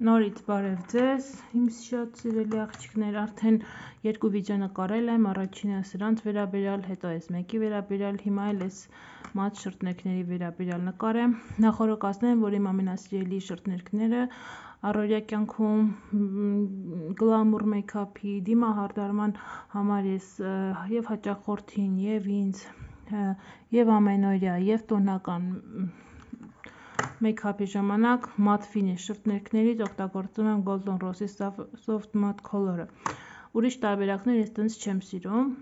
Նորից բարև ձեզ, իմ շատ սիրելի աղջիկներ, արդեն երկու վիդեո նկարել եմ, առաջինը սրանց վերաբերյալ, հետո այս մեկի վերաբերյալ, հիմա էլ այս մատ շրթներքների վերաբերյալ նկարեմ։ Նախորոքացնեմ, որ իմ ամենասիրելի շրթներքները առօրյա կյանքում գլամուր մեյքափի դիմահարդարման համար ես եւ հաճախորդին եւ ինձ եւ ամենօրյա եւ տոնական մեյքափի ժամանակ մատ ֆինիշ շրթներքներից օգտագործում եմ Golden Rose-ի Soft Matte Color-ը։ Ուրիշ տարբերակներ ես տենց չեմ սիրում։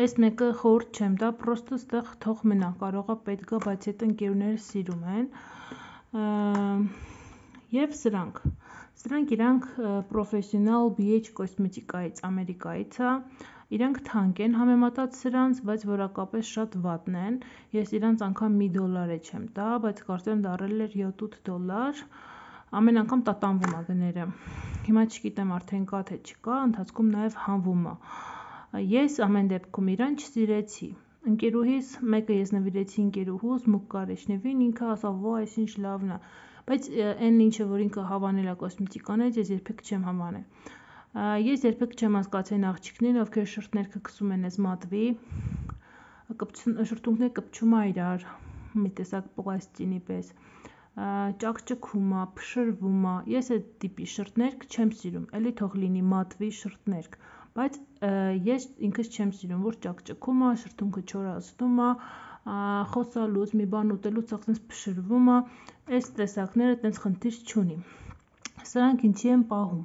Այս մեկը խորհուրդ չեմ տա, պրոստը ստեղ թող մնա, կարողա պետք գա, բայց այդ ընկերուները սիրում են։ Եվ սրանք իրանք Professional BH Cosmetica-ից, Ամերիկայից է։ Իրանք թանկ են համեմատած սրանց, բայց որակապես շատ վատն են։ Ես իրանց անգամ $1 չեմ տա, բայց կարծեմ դառել էր $7-8։ Ամեն անգամ տատանվում է գները։ Հիմա չգիտեմ արդեն կա թե չկա, ընթացքում նաև հանվում է։ Ես ամեն դեպքում իրան չսիրեցի։ Ընկերուհիս մեկը ես նվիրեցի ընկերուհուս Մուկ Կարեշնևին, ինքը ասավ՝ «Ո, այսինչ լավն է»։ Բայց այն ինչը որ ինքը հավանել է կոսմետիկաներից, ես երբեք չեմ հավանել։ Ես երբեք չեմ հասկացել աղջիկներին, ովքեր շրթներքը քսում են այս մատվի, շրթունքները կպչում է իրար, մի տեսակ պլաստինի պես, ճաքճքում է, փշրվում է։ Ես այդ տիպի շրթներք չեմ սիրում, էլի թող լինի մատվի շրթներք, բայց ես ինքս չեմ սիրում, որ ճաքճքում է, շրթունքը չորացնում է, խոսալուց, մի բան ուտելուց ասենց փշրվում է, այս տեսակները տենց խնդիր չունի։ Սրանք ինչի եմ պահում։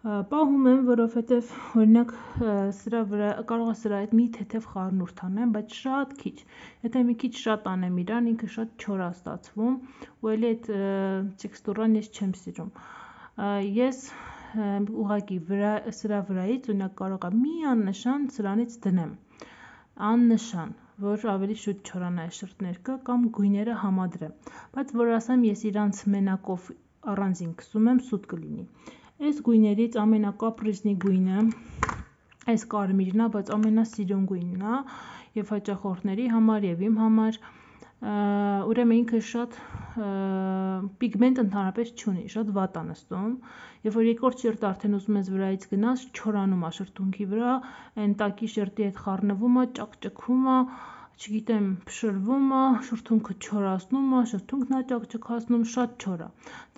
Պահում եմ, որովհետև օրինակ սրա վրա կարող է սրա հետ մի թեթև խառնուրդ անեմ, բայց շատ քիչ։ Եթե մի քիչ շատ անեմ իրան, ինքը շատ չոր է ստացվում, ու էլի այդ տեքստուրան ես չեմ սիրում։ Ես ուղղակի սրա վրայից օրինակ կարող եմ մի աննշան սրանից դնեմ։ Աննշան, որ ավելի շուտ չորանա այս շրթներքը կամ գույները համադրեմ։ Բայց որ ասեմ ես իրանց մենակով առանձին քսում եմ, սուտ կլինի։ Այս գույներից ամենակապրիզնի գույնը այս կարմիրն է, բայց ամենասիրուն գույնն է եւ հաճախորդների համար եւ իմ համար։ Ուրեմն ինքը շատ պիգմենտ ընդհանրապես չունի, շատ վատ է նստում։ Երբ որ երկրորդ շերտը արդեն ուզում ես վրայից գնաս, չորանում է շրթունքի վրա, այն տակի շերտի հետ խառնվում է, ճաքճքում է, չգիտեմ, փշրվում է, շրթունքը չորացնում է, շրթունքն է ճաքճքացնում, շատ չոր է։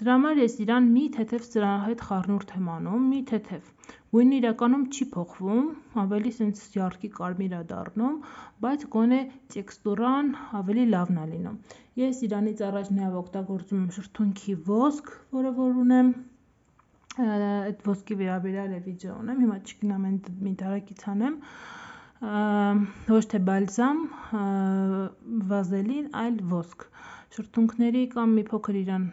Դրա համար ես իրան մի թեթև սրա հետ խառնուրդ եմ անում, մի թեթև։ Գույնը իրականում չի փոխվում, ավելի սենց յարդի կարմիր է դառնում, բայց գոնե տեքստուրան ավելի լավն է լինում։ Ես իրանից առաջ նաև օգտագործում եմ շրթունքի ոսկ, որը որ ունեմ, այդ ոսկի վերաբերյալ է վիդեո ունեմ, հիմա չգնամ մի դարակից անեմ, ոչ թե բալզամ, վազելին, այլ ոսկ։ Շրթունքների կամ մի փոքր իրան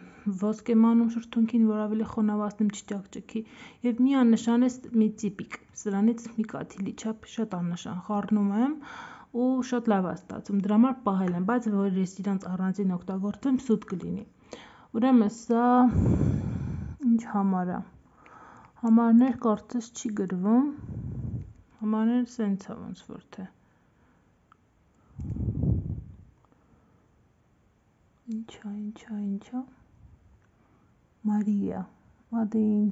ոսկ եմ անում շրթունքին, որ ավելի խոնավացնեմ, չճաքճքի, եւ մի աննշան է մի ծիպիկ, սրանից մի կաթիլի չափ շատ աննշան խառնում եմ ու շատ լավ է ստացվում, դրա համար պահել եմ, բայց որ ես իրանց առանձին օգտագործեմ, սուտ կլինի։ Ուրեմն սա ինչ համար է։ Համարներ կարծես չի գրվում, համարները սենց է ոնց որ թե։ Ինչա։ Մարիա, Մադին։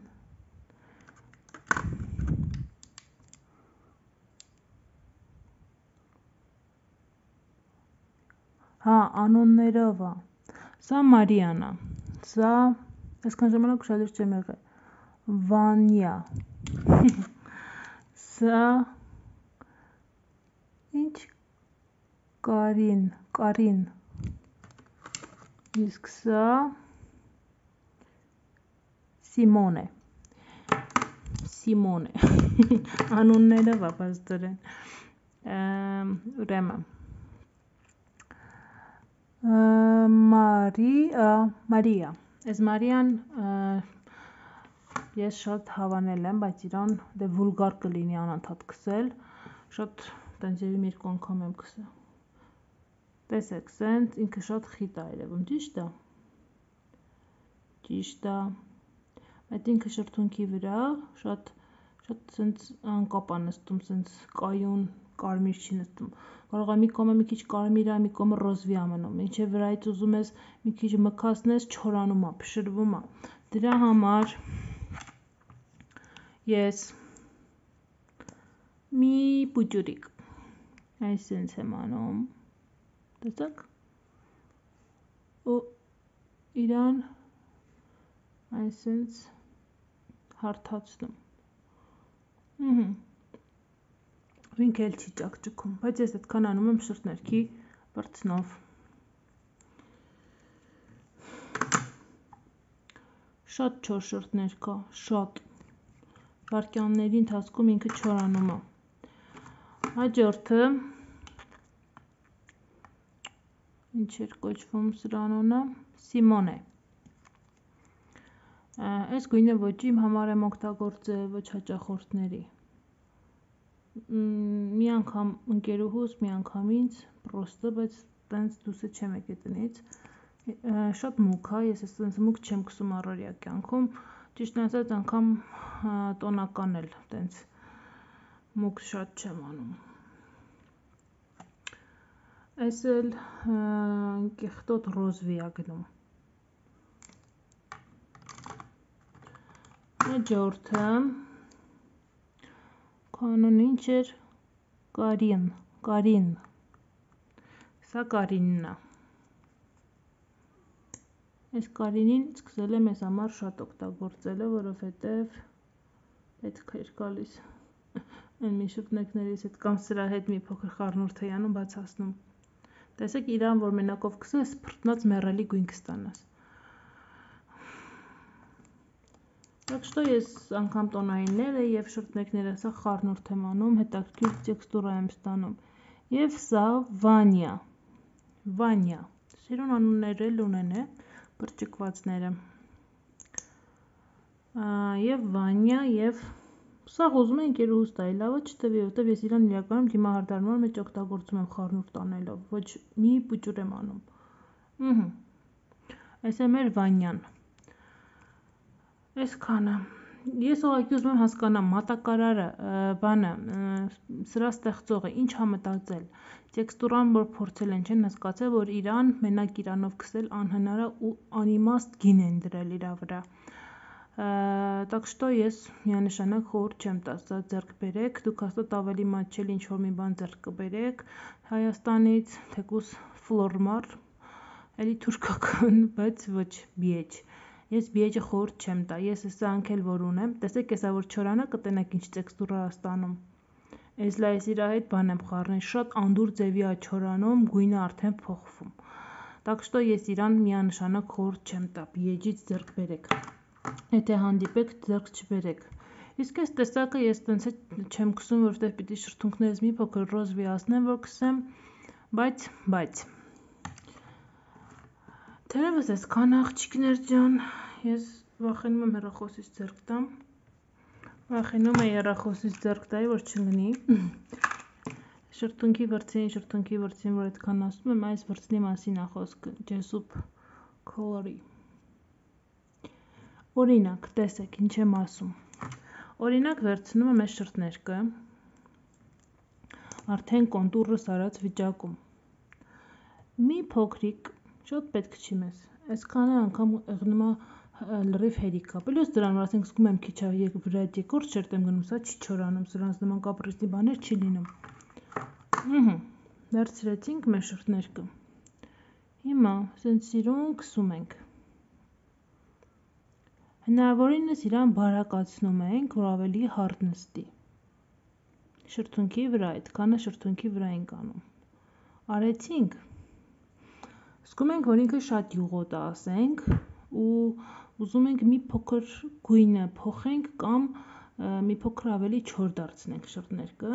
Հա, անուններով է։ Սա Մարիան է։ Սա այսքան ժամանակ ուշադիր չեմ եղել։ Վանյա։ Սա ինչ Կարին։ Իսկ սա Սիմոնե։ Անուններով է բարձրեն։ Ուրեմն Մարիա։ Այս Մարիան ես շատ հավանել եմ, բայց իրան դե վուլգար կլինի անընդհատ քսել, շատ տենց երևի երկու անգամ եմ քսել։ Տեսեք, սենց ինքը շատ խիտ է երևում, ճիշտ է։ Ճիշտ է։ Այդ ինքը շրթունքի վրա շատ սենց անկապ է նստում, սենց կայուն կարմիր չի նստում։ Կարող է մի կողմը մի քիչ կարմիր է, մի կողմը ռոզվի է մնում։ Ինչեւ վրայից ուզում ես մի քիչ մքացնես, չորանում է, փշրվում է։ Դրա համար ես մի պուճուրիկ այսպես եմ անում, տեսակ, ու իրան այսպես հարթացնում, ինքը էլ չի ճակճկում, բայց ես այդքան անում եմ շրթներքի բրծնով, շատ չոր շրթներ կա, շատ, վայրկյանների ընթացքում ինքը չորանում է, հաջորդը, ինչ էր կոչվում սրան անունը, Սիմոն է, այս գույնը ոչ իմ համար եմ օգտագործել, ոչ հաճախորդների, մի անգամ ընկերուհուս, մի անգամ ինձ, պրոստը, բայց տենց դուսը չեմ եկել տնից, շատ մուգ է, ես այս մուգ չեմ կսում առօրյա կյանքում, ճիշտն ասած անգամ տոնական էլ տենց մուգ շատ չեմ անում, այս էլ կեղտոտ ռոզվի է գնում, հաջորդը, կանոն ինչ էր, Կարին, սա Կարինն է, այս Կարինին սկսել եմ ես համար շատ օգտագործելը, որովհետև պետք էր գալիս, այն մի շրթներքներից հետ կամ սրա հետ մի փոքր խառնուրդ էի անում բացացնում, տեսեք իրան, որ մենակով կսես, փրտնած մեռելի գույն կստանաս, Так что ես անգամ տոնայինները և շրթներքները սա խառնուրդ եմ անում, հետաքրքիր տեքստուրա եմ ստանում, և սա Վանյա, սիրուն անուններ էլ ունեն է, բրճկվածները, և Վանյա, և սաղ ուզում է ընկերուհուս տայի, լավը չտվի, որտև ես իրան իրականում դիմահարդարման մեջ օգտագործում եմ խառնուրդ անելով, ոչ մի պուճուր եմ անում, այս է մեր Վանյան, այսքանը, ես ուղղակի ուզում եմ հասկանամ մատակարարը, բանը, սրա ստեղծողը ինչ է մտածել, տեքստուրան որ փորձել են չեն հասկացել, որ իրան մենակ իրանով քսել անհնար է ու անիմաստ գին են դրել իրա վրա, Так что ես միանշանակ խորհուրդ չեմ տա սա ձեռք բերեք, դուք հաստատ ավելի մատչելի ինչ-որ մի բան ձեռք կբերեք Հայաստանից, թեկուզ ֆլորմար, էլի թուրքական, բայց ոչ բիեջ, ես բիեջը խորհուրդ չեմ տա, ես սրանք էլ որ ունեմ, տեսեք եսա որ չորանա կտենակ ինչ տեքստուրա ստանում, ես լա ես իրա հետ բան եմ խառնել, շատ անդուր ձևի է չորանում, գույնը արդեն փոխվում, Так что ես իրան միանշանակ խորհուրդ չեմ տա, բիեջից ձեռք բերեք, եթե հանդիպեք ձեռք չբերեք, իսկ այս տեսակը ես տենց չեմ կսում, որովհետև պիտի շրթունքներս մի փոքր ռոզվիացնեմ, որ կսեմ, բայց, թերևս այսքան աղջիկներ ջան, ես վախենում եմ հեռախոսից ձեռք տամ, որ չընկնի, շրթունքի վրձին, որ այդքան ասում եմ, այս վրձնի մասին է խոսքը, ջեսուպ քոլորի, օրինակ, տեսեք, ինչ եմ ասում, օրինակ վերցնում եմ այս շրթներկը, արդեն կոնտուրս արած վիճակում, մի փոքրիկ, շատ պետք չի մեզ, այսքանը անգամ եղնում է լրիվ հերիք է, պլյուս դրան, որ ասենք զգում եմ քիչ վրայդ եկորդ շերտ եմ գնում, սա չի չորանում, սրանց նման կապրիզնի բաներ չի լինում, վերցրեցինք մեր շրթներկը, հիմա սենց սիրուն կսում ենք, հնարավորինս իրան բարակացնում ենք, որ ավելի հարթ նստի, շրթունքի վրա, այդքանը շրթունքի վրա ենք անում, արեցինք, զգում ենք, որ ինքը շատ յուղոտ է ասենք, ու ուզում ենք մի փոքր գույնը փոխենք կամ մի փոքր ավելի չոր դարձնենք շրթներկը,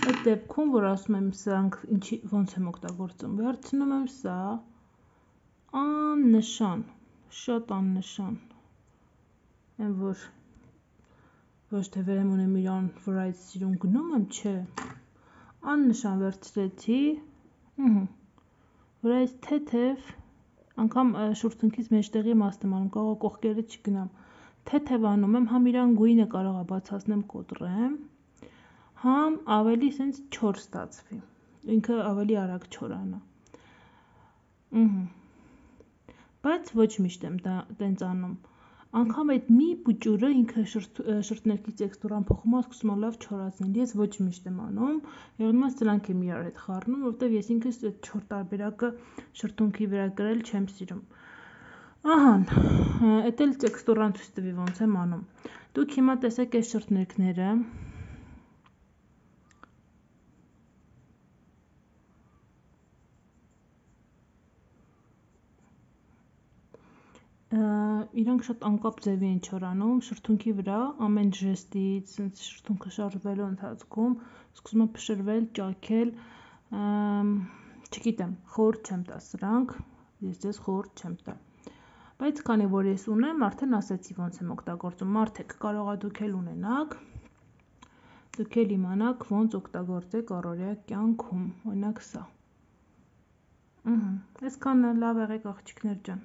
այդ դեպքում, որ ասում եմ սրանք ոնց եմ օգտագործում, վերցնում եմ սա, աննշան, շատ աննշան, եմ որ ոչ թե վերեմ ունեմ իրան վրա այդ սիրուն գնում եմ, չէ, աննշան վերցրեցի, վրա այս թեթև, անգամ շուրթունքից մեջտեղի մասն եմ անում, կարող կողքերը չգնամ, թեթև անում եմ, համ իրան գույնը կարող է բացացնեմ կոտրեմ, համ ավելի սենց չոր ստացվի, ինքը ավելի արագ չորանա, բայց ոչ միշտ եմ դա տենց անում։ Անգամ այդ մի բուճուրը ինքը շրթներքի տեքստուրան փոխում է, սկսում է լավ չորացնել։ Ես ոչ միշտ եմ անում, եղնումա սրանք եմ իրար հետ խառնում, որովհետև ես ինքս այդ չոր տարբերակը շրթունքի վրա գրել չեմ սիրում։ Ահան, էդ էլ տեքստուրան ցույց տվի ոնց եմ անում։ Դուք հիմա տեսեք այս շրթներքները։ Իրանք շատ անկապ ձևի են չորանում, շրթունքի վրա ամեն ժեստից, շրթունքը շարժվելու ընթացքում սկսում է փշրվել, ճաքել, չգիտեմ, խորհուրդ չեմ տա սրանք, ես ձեզ խորհուրդ չեմ տա։ Բայց քանի որ ես ունեմ, արդեն ասացի ոնց եմ օգտագործում, մարդիկ կարող է դուք էլ ունենաք, դուք էլ իմանաք ոնց օգտագործեք առօրյա կյանքում, օրինակ սա։ Այսքանը լավ եղեք աղջիկներ ջան։